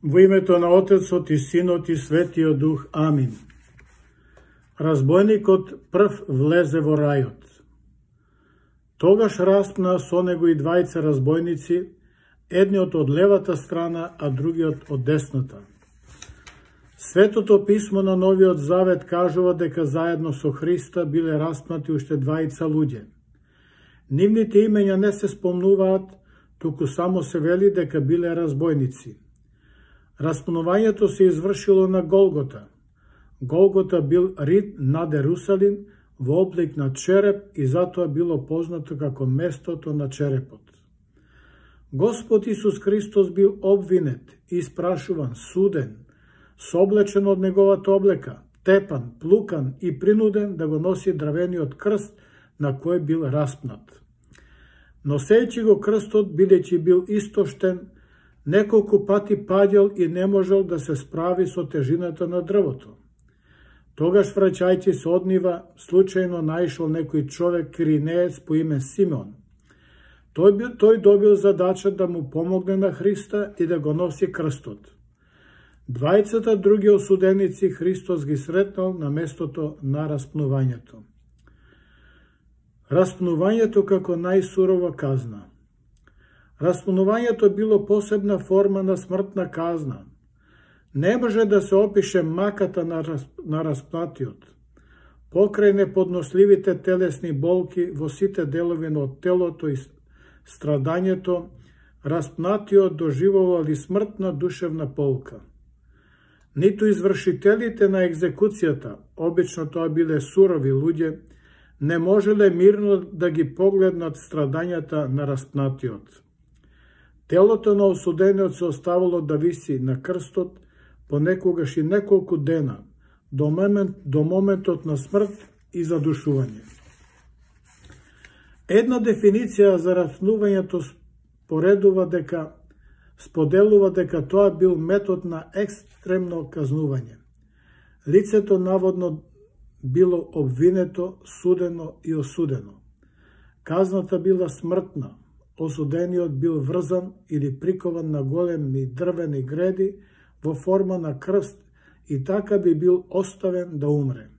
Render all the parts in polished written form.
Во името на Отецот и Синот и Светиот Дух. Амин. Разбойникот прв влезе во рајот. Тогаш распна со него и двајца разбойници, едниот од левата страна, а другиот од десната. Светото писмо на Новиот Завет кажува дека заедно со Христа биле распнати уште двајца луѓе. Нивните имења не се спомнуваат, туку само се вели дека биле разбойници. Распнувањето се извршило на Голгота. Голгота бил рид над Ерусалим во облик на череп и затоа било познато како местото на черепот. Господ Исус Христос бил обвинет, испрашуван, суден, соблечен од неговата облека, тепан, плукан и принуден да го носи дрвениот крст на кој бил распнат. Носејќи го крстот, бидејќи бил истоштен, неколку пати паѓал и не можел да се справи со тежината на дрвото. Тогаш, враќајќи се од нива, случајно наишол некој човек киринеец по име Симеон. Тој добил задача да му помогне на Христа и да го носи крстот. Двајцата други осуденици Христос ги сретнал на местото на распнувањето. Распнувањето како најсурова казна. Распнувањето било посебна форма на смртна казна. Не може да се опише маката на распнатиот. Покрај неподносливите телесни болки во сите делови од телото и страдањето, распнатиот доживувал и смртна душевна полка. Ниту извршителите на екзекуцијата, обично тоа биле сурови луѓе, не можеле мирно да ги погледнат страдањата на распнатиот. Телото на осудениот се оставало да виси на крстот понекогаш и неколку дена, до моментот на смрт и задушување. Една дефиниција за распнувањето споделува дека тоа бил метод на екстремно казнување. Лицето наводно било обвинето, судено и осудено. Казната била смртна, осудениот бил врзан или прикован на големи дрвени греди во форма на крст и така би бил оставен да умре.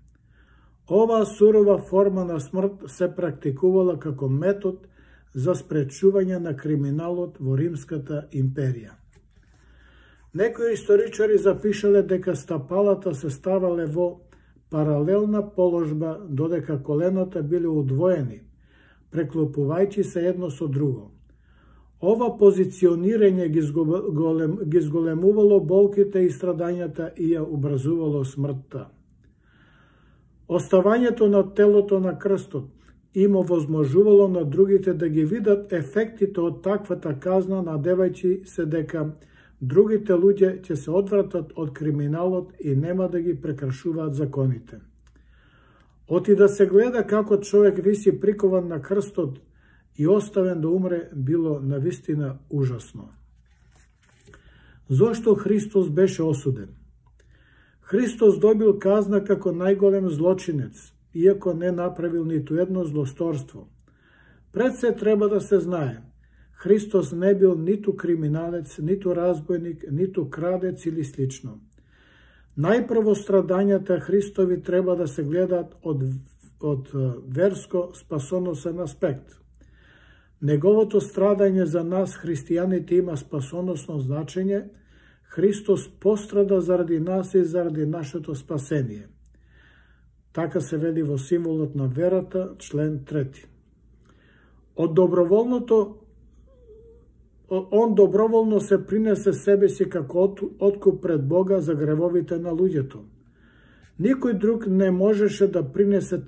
Оваа сурова форма на смрт се практикувала како метод за спречување на криминалот во Римската империја. Некои историчари запишале дека стапалата се ставале во паралелна положба, додека колената биле удвоени, преклопувајќи се едно со друго. Ова позиционирање ги зголемувало болките и страдањата и ја образувало смртта. Оставањето на телото на крстот им овозможувало на другите да ги видат ефектите од таквата казна, надевајќи се дека другите луѓе ќе се одвратат од криминалот и нема да ги прекршуваат законите. Оти да се гледа како човек виси прикован на крстот и оставен да умре, било навистина ужасно. Зошто Христос беше осуден? Христос добил казна како најголем злочинец, иако не направил ниту едно злосторство. Пред се треба да се знае, Христос не бил ниту криминалец, ниту разбойник, ниту крадец или слично. Најпрво страдањата Христови треба да се гледаат од верско-спасоносен аспект. Неговото страдање за нас, христијаните, има спасоносно значење. Христос пострада заради нас и заради нашето спасение. Така се вели во символот на верата, член 3. Он доброволно се принесе себе си како откуп пред Бога за гревовите на луѓето. Никој друг не можеше да принесе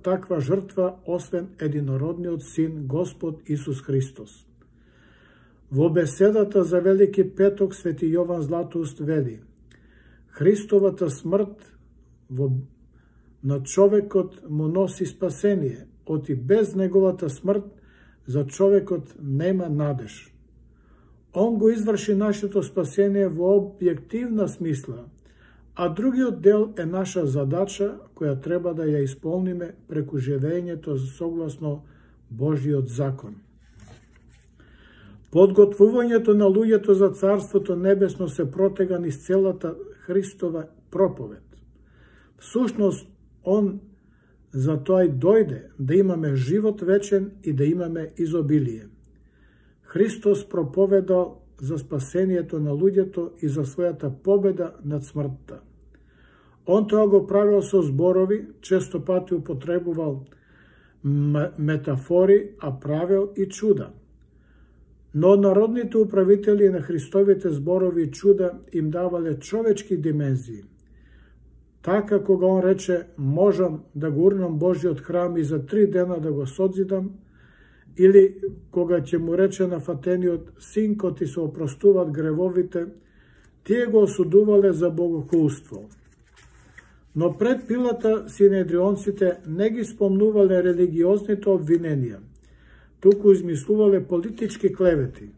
таква жртва, освен единородниот Син, Господ Исус Христос. Во беседата за Велики петок Свети Јован Златоуст вели: Христовата смрт на човекот му носи спасение, оти без неговата смрт за човекот нема надеж. Он го изврши нашето спасение во објективна смисла, а другиот дел е наша задача која треба да ја исполниме преку живењето согласно Божиот закон. Подготвувањето на луѓето за Царството Небесно се протега низ целата Христова проповед. Всушност, Он за тоа и дојде, да имаме живот вечен и да имаме изобилие. Христос проповедал за спасението на луѓето и за својата победа над смртта. Он тоа го правил со зборови, често пати употребувал метафори, а правил и чуда. Но народните управители на Христовите зборови и чуда им давале човечки димензии. Така кога он рече, можам да го урнам Божиот храм и за 3 дена да го созидам, или кога ќе му рече на фатениот, синко ти се опростуваат гревовите, тие го осудувале за богохулство. Но пред Пилата синедрионците не ги спомнувале религиозните обвиненија, туку измислувале политички клевети.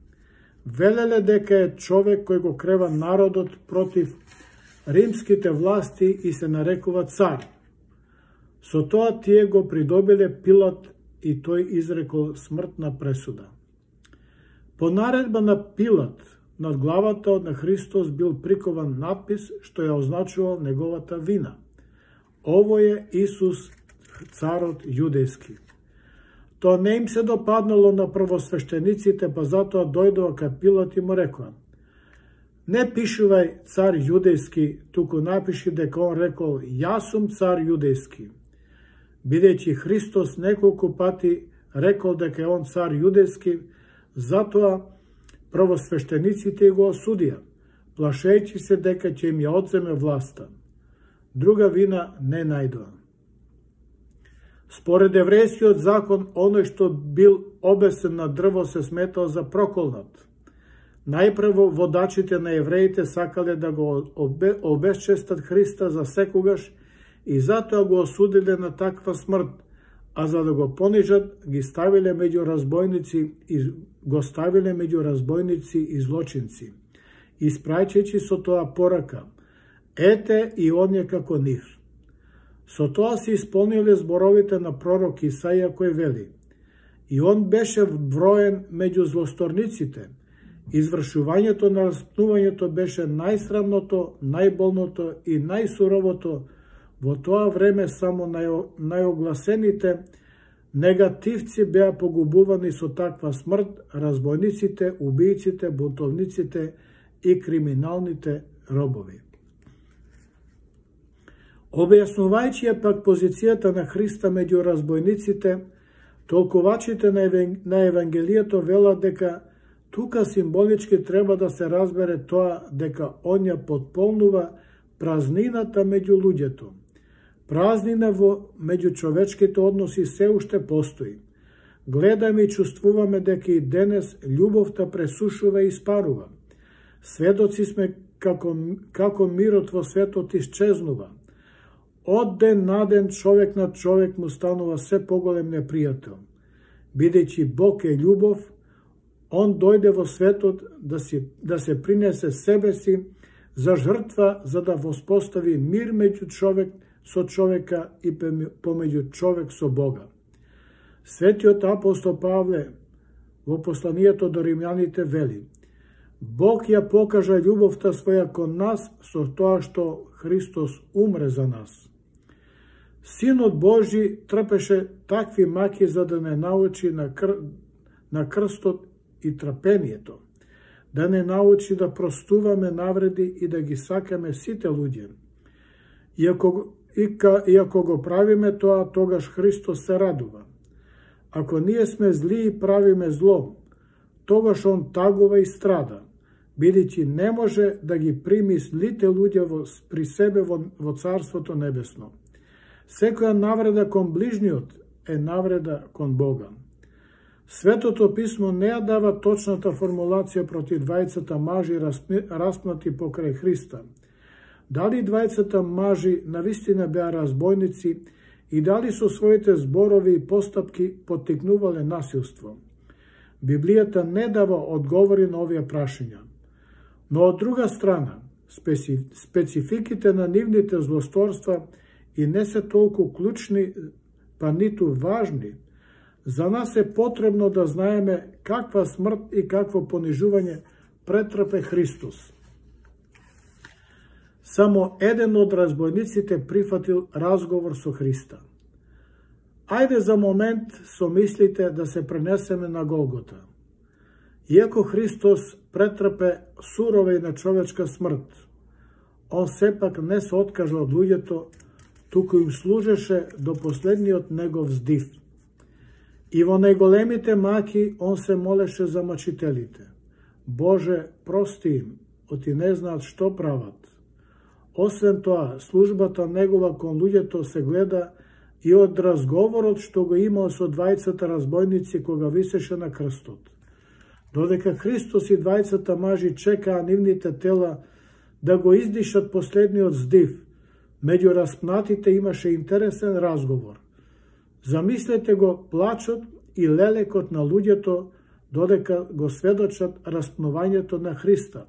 Велеле дека е човек кој го крева народот против римските власти и се нарекува цар. Со тоа тие го придобиле Пилат и тој изрекол смртна пресуда. По наредба на Пилат, над главата на Христос бил прикован надпис што ја означувал неговата вина. Ово е Исус, царот јудејски. Тоа не им се допаднало на првосвештениците, па затоа дојдоа кај Пилат и му рекоа: не пишувај цар јудејски, туку напиши дека он рекол јас сум цар јудејски. Бидејќи Христос неколку пати рекол дека е он цар јудејски, затоа првосвештениците го осудија, плашејќи се дека ќе им ја одземе власта. Друга вина не најдоа. Според еврејскиот закон, оној што бил обесен на дрво се сметал за проколнат. Најпрво водачите на евреите сакале да го обесчестат Христа за секогаш и затоа го осудиле на таква смрт, а за да го понижат, го ставиле меѓу разбойници и злочинци, испраќајќи со тоа порака: ете и оние како нив. Со тоа се исполниле зборовите на пророк Исаија кој вели: и он беше вброен меѓу злосторниците. Извршувањето на распнувањето беше најсрамното, најболното и најсуровото. Во тоа време само најогласените негативци беа погубувани со таква смрт, разбойниците, убијците, бунтовниците и криминалните робови. Објаснувајќи ја пак позицијата на Христа меѓу разбойниците, толкувачите на Евангелието велат дека тука символички треба да се разбере тоа дека он ја потполнува празнината меѓу луѓето. Празнина во меѓучовечките односи се уште постои. Гледаме и чувствуваме дека и денес љубовта пресушува и испарува. Сведоци сме како мирот во светот исчезнува. Од ден на ден човек на човек му станува се поголем непријател. Бидејќи Бог е љубов, Он дојде во светот да се принесе себе си за жртва, за да воспостави мир меѓу човек со човека и помеѓу човек со Бога. Светиот апостол Павле во посланието до римјаните вели: Бог ја покажа љубовта своја кон нас со тоа што Христос умре за нас. Синот Божи трпеше такви маки за да не научи на крстот и трпението, да не научи да простуваме навреди и да ги сакаме сите луѓе. И ако го правиме тоа, тогаш Христос се радува. Ако ние сме зли и правиме зло, тогаш Он тагува и страда, бидејќи не може да ги прими злите луѓе при себе во Царството Небесно. Секоја навреда кон ближниот е навреда кон Бога. Светото писмо не ја дава точната формулација против двајцата мажи распнати покрај Христа. Дали двајцата мажи навистина беа разбойници и дали со своите зборови и постапки поттикнувале насилство? Библијата не дава одговори на овие прашања. Но од друга страна, спецификите на нивните злосторства и не се толку клучни, па ниту важни, За нас е потребно да знаеме каква смрт и какво понижување претрпе Христос. Само еден од разбойниците прифатил разговор со Христа. Ајде за момент со мислите да се пренесеме на Голгота. Иако Христос претрпе сурова и нечовечка смрт, он сепак не се откажа од луѓето, туку им служеше до последниот негов здив. И во најголемите маки он се молеше за мачителите. Боже, прости им, оти не знаат што прават. Освен тоа, службата негова кон луѓето се гледа и од разговорот што го имал со двајцата разбойници кога висеше на крстот. Додека Христос и двајцата мажи чекаа нивните тела да го издишат последниот здив, меѓу распнатите имаше интересен разговор. Замислете го плачот и лелекот на луѓето додека го сведочат распнувањето на Христа,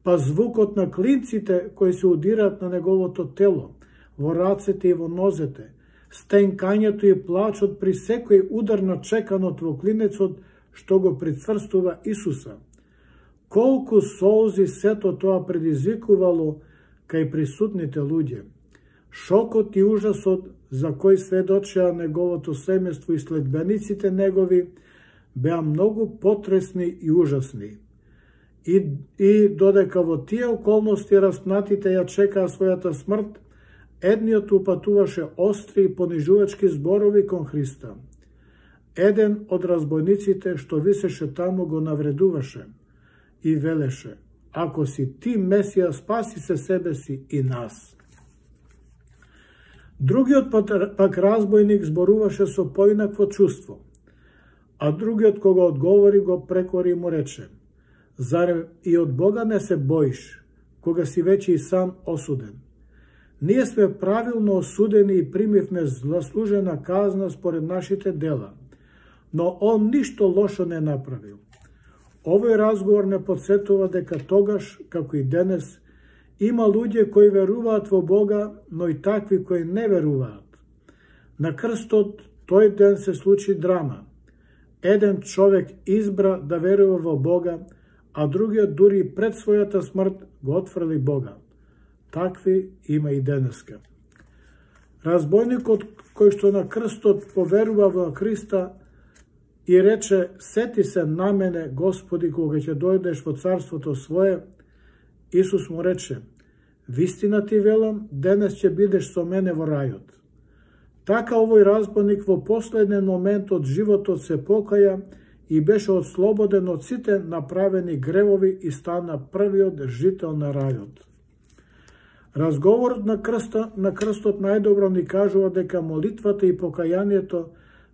па звукот на клинците кои се удираат на неговото тело, во рацете и во нозете, стенкањето и плачот при секој удар на чеканот во клинецот што го прицврстува Исуса. Колку солзи сето тоа предизвикувало кај присутните луѓе. Шокот и ужасот за кој сведочеа неговото семејство и следбениците негови беа многу потресни и ужасни. И додека во тие околности распнатите ја чекаа својата смрт, едниот упатуваше остри и понижувачки зборови кон Христа. Еден од разбойниците што висеше таму го навредуваше и велеше: ако си ти Месија, спаси се себе си и нас. Другиот пак разбойник зборуваше со поинакво чувство, а другиот кога одговори го прекори и му рече: зарем и од Бога не се боиш, кога си веќе и сам осуден? Ние сме правилно осудени и примивме заслужена казна според нашите дела, но он ништо лошо не направил. Овој разговор не подсетува дека тогаш, како и денес, има луѓе кои веруваат во Бога, но и такви кои не веруваат. На крстот тој ден се случи драма. Еден човек избра да верува во Бога, а другиот дури пред својата смрт го отфрли Бога. Такви има и денеска. Разбойникот кој што на крстот поверува во Христа и рече: сети се на мене, Господи, кога ќе дојдеш во царството свое, Исус му рече: вистина ти велам, денес ќе бидеш со мене во рајот. Така овој разбойник во последен момент од животот се покаја и беше ослободен од сите направени гревови и стана првиот жител на рајот. Разговорот на крстот најдобро ни кажува дека молитвата и покајанието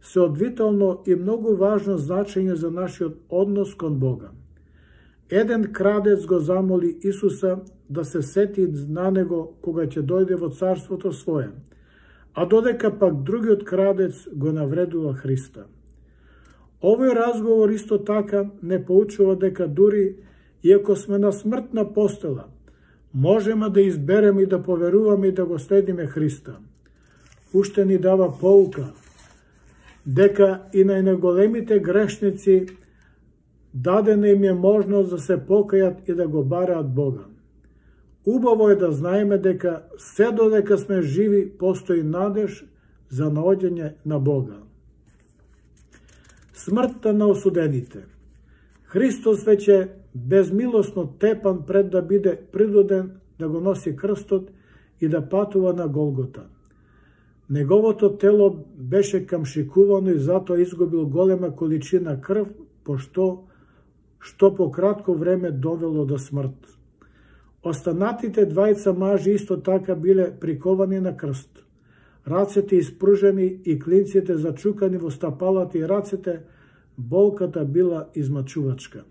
се од витално и многу важно значење за нашиот однос кон Бога. Еден крадец го замоли Исуса да се сети на него кога ќе дојде во царството свое, а додека пак другиот крадец го навредува Христа. Овој разговор исто така не поучува дека дури иако сме на смртна постела, можеме да избереме и да поверуваме и да го следиме Христа. Уште ни дава поука дека и на најголемите грешници дадена им е можност да се покајат и да го бараат Бога. Убаво е да знаеме дека се додека сме живи постои надеж за наоѓање на Бога. Смртта на осудените. Христос веќе безмилосно тепан пред да биде принуден да го носи крстот и да патува на Голгота. Неговото тело беше камшикувано и затоа изгубил голема количина крв, што по кратко време довело до смрт. Останатите двајца мажи исто така биле приковани на крст. Рацете испружени и клинците зачукани во стапалата и рацете, болката била измачувачка.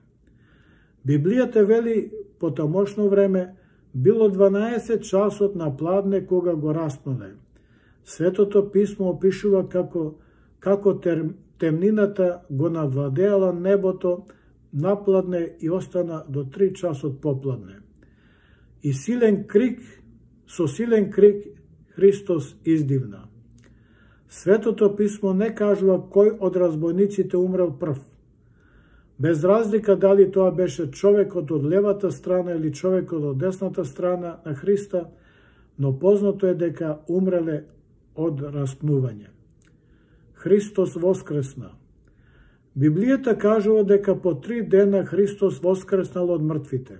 Библијата вели, по тамошно време, било 12 часот на пладне кога го распнале. Светото писмо опишува како темнината го навладеала небото, напладне и остана до 3 часот попладне. И со силен крик Христос издивна: Светото писмо не кажува кој од разбойниците умрел прв. Без разлика дали тоа беше човекот од левата страна или човекот од десната страна на Христа, но познато е дека умреле од распнување. Христос воскресна. Библијата кажува дека по 3 дена Христос воскреснал од мртвите.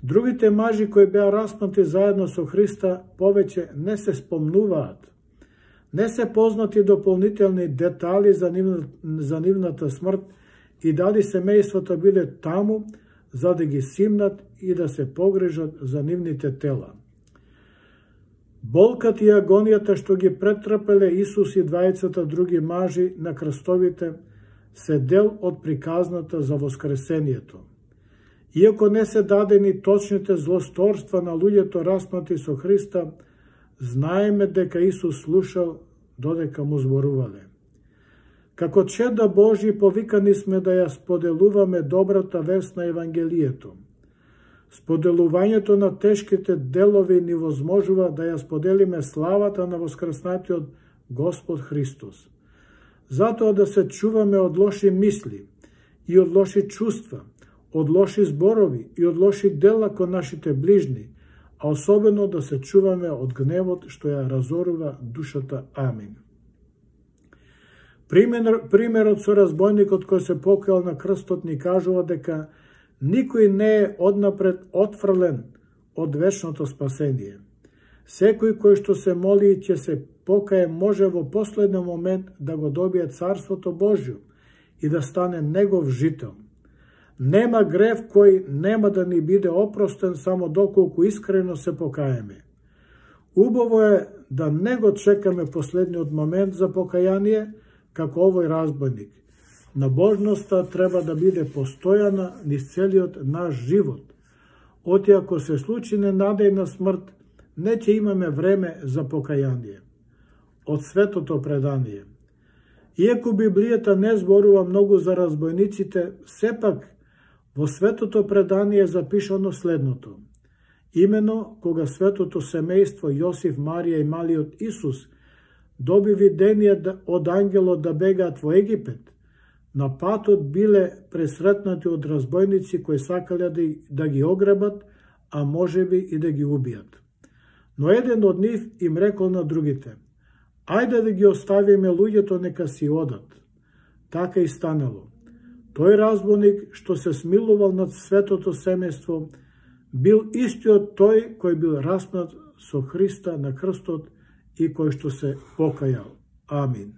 Другите мажи кои беа распнати заедно со Христа повеќе не се спомнуваат. Не се познати дополнителни детали за нивната смрт и дали семејствата биле таму за да ги симнат и да се погрижат за нивните тела. Болката и агонијата што ги претрпеле Исус и двајцата други мажи на крстовите се дел од приказната за воскресението. Иако не се дадени точните злосторства на луѓето распнати со Христа, знаеме дека Исус слушал додека му зборувале. Како чеда Божји повикани сме да ја споделуваме добрата вест на Евангелието. Споделувањето на тешките делови ни возможува да ја споделиме славата на воскреснатиот Господ Христос. Затоа да се чуваме од лоши мисли и од лоши чувства, од лоши зборови и од лоши дела кон нашите ближни, а особено да се чуваме од гневот што ја разорува душата. Амин. Примерот со разбойникот кој се покајал на крстот ни кажува дека никој не е однапред отфрлен од вечното спасение. Секој кој што се моли и ќе се покае може во последен момент да го добие Царството Божјо и да стане негов жител. Нема грев кој нема да ни биде опростен само доколку искрено се покаеме. Убаво е да не го чекаме последниот момент за покаяние, како овој разбойник. Набожноста треба да биде постојана низ целиот наш живот. Оти ако се случи ненадејна смрт, не ќе имаме време за покаяние. Од светото предание. Иако Библијата не зборува многу за разбойниците, сепак во светото предание е запишано следното. Имено кога светото семејство Јосиф, Марија и малиот Исус доби видение од ангелот да бегаат во Египет, на патот биле пресретнати од разбойници кои сакале да ги ограбат, а можеби и да ги убијат. Но еден од нив им рекол на другите: ајде да ги оставиме луѓето нека си одат. Така и станало. Тој разбойник што се смилувал над светото семејство бил истиот тој кој бил распнат со Христа на крстот и кој што се покајал. Амин.